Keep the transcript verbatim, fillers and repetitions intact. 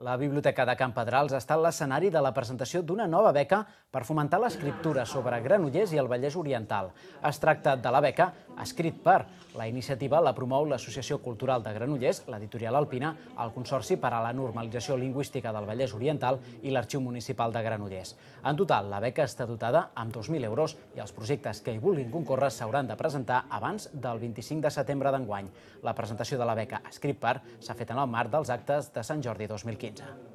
La Biblioteca de Can Pedrals ha estat l'escenari de la presentació d'una nova beca per fomentar l'escriptura sobre Granollers i el Vallès Oriental. Es tracta de la beca Escrit per. La iniciativa la promou l'Associació Cultural de Granollers, l'Editorial Alpina, el Consorci per a la Normalització Lingüística del Vallès Oriental i l'Arxiu Municipal de Granollers. En total, la beca està dotada amb dos mil euros i els projectes que hi vulguin concórrer s'hauran de presentar abans del vint-i-cinc de setembre d'enguany. La presentació de la beca Escrit per s'ha fet en el marc dels actes de Sant Jordi dos mil quinze.